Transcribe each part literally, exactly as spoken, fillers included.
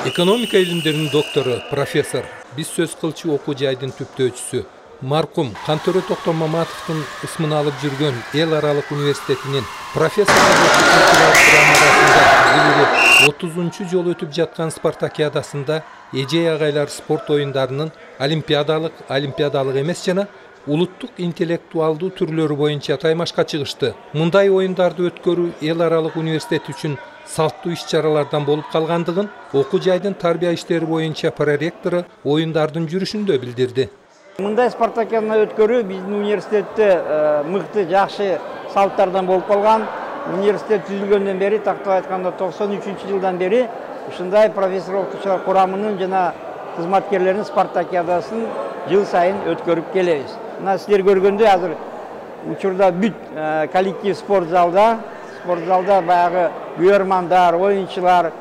Экономика илимдеринин доктору, профессор, биз сөз кылчу окуу жайдын түптөөчүсү, маркум Кантөрө Токтом Маматовдун ысмын алып жүргөн эл аралык университетинин профессор арасында отузунчу жолу өтүп жаткан спартакиадасында эжей агайлар спорт оюндарынын олимпиадалык, олимпиадалык эмес жана улуттук интеллектуалдуу түрлөрү боюнча таймашка чыгышты. Мындай оюндарды өткөрүү эл аралык университет үчүн салттуу иш-чаралардан болуп калгандыгын окуу жайдын тарбия иштери боюнча проректору оюндардын жүрүшүндө билдирди. Мындай спартакиаданы өткөрүү биздин университетте мыкты, жакшы салттардан болуп калган. Университет түзүлгөндөн бери, тактап айтканда токсон үчүнчү жылдан бери ушундай профессор окутуучулар курамынын жана кызматкерлеринин спартакиадасын жыл сайын өткөрүп келебиз. Мына силер көргөндөй азыр учурда бүт коллектив спорт залда, спорт залда баягы күйөрмандар, оюнчулар,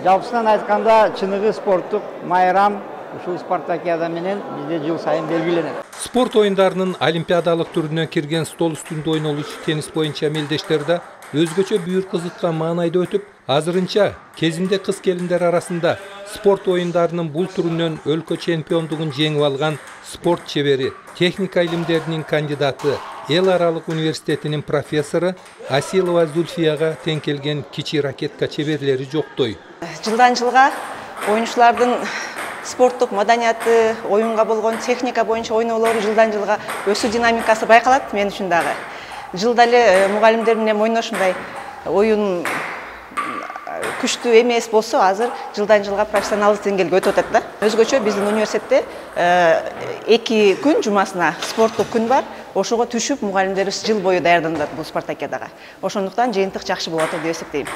жалпысынан айтканда чыныгы спорттук майрам ушул спартакиада менен бизде жыл сайын белгиленет. Спорт оюндарынын олимпиадалык түрүнө кирген стол үстүндө ойнолуучу теннис боюнча мелдештер да өзгөчө бүйүр кызыткан маанайда өтүп, азырынча кезинде кыз келиндер арасында спорт оюндарынын бул түрүнөн өлкө чемпиондугун жеңип алган спорт чебери, техника илимдеринин кандидаты, эл аралык университетинин профессору Асилова Зульфияга тең келген кичи ракетка чеберлери жоктой. Жылдан жылга оюнчулардын спорттук маданияты, оюнга болгон техника боюнча ойноолору жылдан жылга өсүү динамикасы байкалат мен үчүн дагы. Жылда эле мугалимдер менен ойношундай оюн күчтүү эмес болсо, азыр жылдан жылга профессионалдык деңгээлге өтүп атат да. Өзгөчө биздин университетте эки күн жумасына спорттук күн бар. Ошого түшүп мугалимдерибиз жыл бою даярданат бул спартакиадага. Ошондуктан жыйынтык жакшы болот деп эсептейм.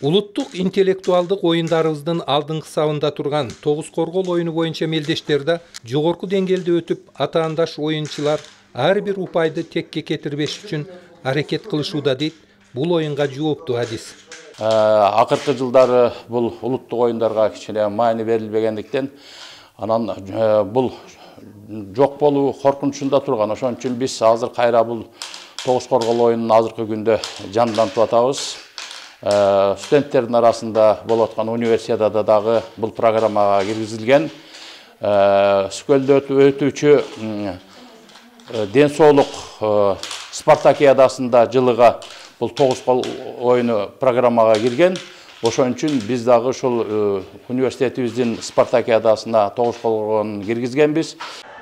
Улуттук интеллектуалдык оюндарыбыздын алдыңкы сабында турган тогуз коргол оюну боюнча мелдештер да жогорку деңгээлде өтүп, атаандаш оюнчулар ар бир упайды текке кетирбеш үчүн аракет кылышууда дейт бул оюнга жооптуу адис. Акыркы жылдары бул улуттук оюндарга кичине маани берилбегендиктен, анан бул жок болуу коркунучунда турган. Ошон үчүн биз азыр кайра бул тогуз коргол оюнун азыркы күндө жандантып атабыз. Студенттердин арасында болуп аткан универсиадада дагы бул программага киргизилген. Сүкөлдө өтүүчү ден соолук спартакиадасында жылыга бул тогуз оюну программага кирген. Ошон үчүн биз дагы ушул университетибиздин спартакиадасына тогуз коргоон киргизгенбиз.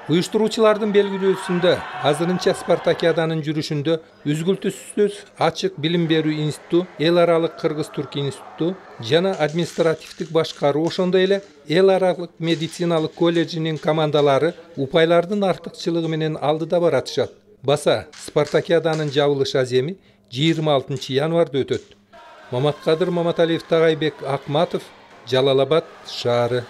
Уюштуруучулардын белгилөөсүндө азырынча спартакиаданын жүрүшүндө үзгүлтүсүз ачык билим берүү институту, эл аралык кыргыз-түрк институту жана административдик башкаруу, ошондой эле эл аралык медициналык колледжинин командалары упайлардын артыкчылыгы менен алдыда баратышат. Баса спартакиаданын жабылыш аземи жыйырма алтынчы январда өтөт. Маматкадыр Маматалиев, Тагайбек Акматов, Жалал Абад шаары.